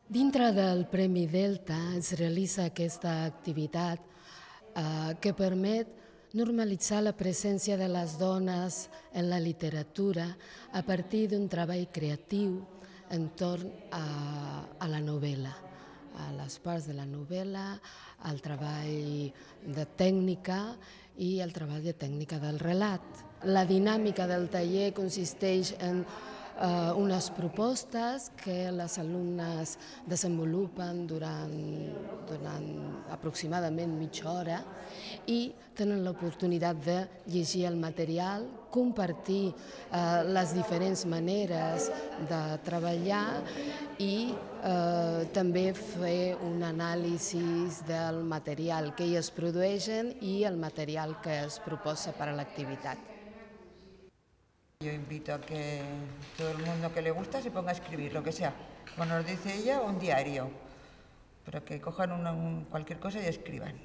Dintre del Premi Delta es realitza aquesta activitat que permet normalitzar la presència de les dones en la literatura a partir d'un treball creatiu entorn a la novel·la, a les parts de la novel·la, al treball de tècnica i el treball de tècnica del relat. La dinàmica del taller consisteix en unes propostes que les alumnes desenvolupen durant aproximadament mitja hora i tenen l'oportunitat de llegir el material, compartir les diferents maneres de treballar i també fer un anàlisi del material que elles produeixen i el material que es proposa per a l'activitat. Yo invito a que todo el mundo que le gusta se ponga a escribir, lo que sea, como nos dice ella, un diario, pero que cojan cualquier cosa y escriban.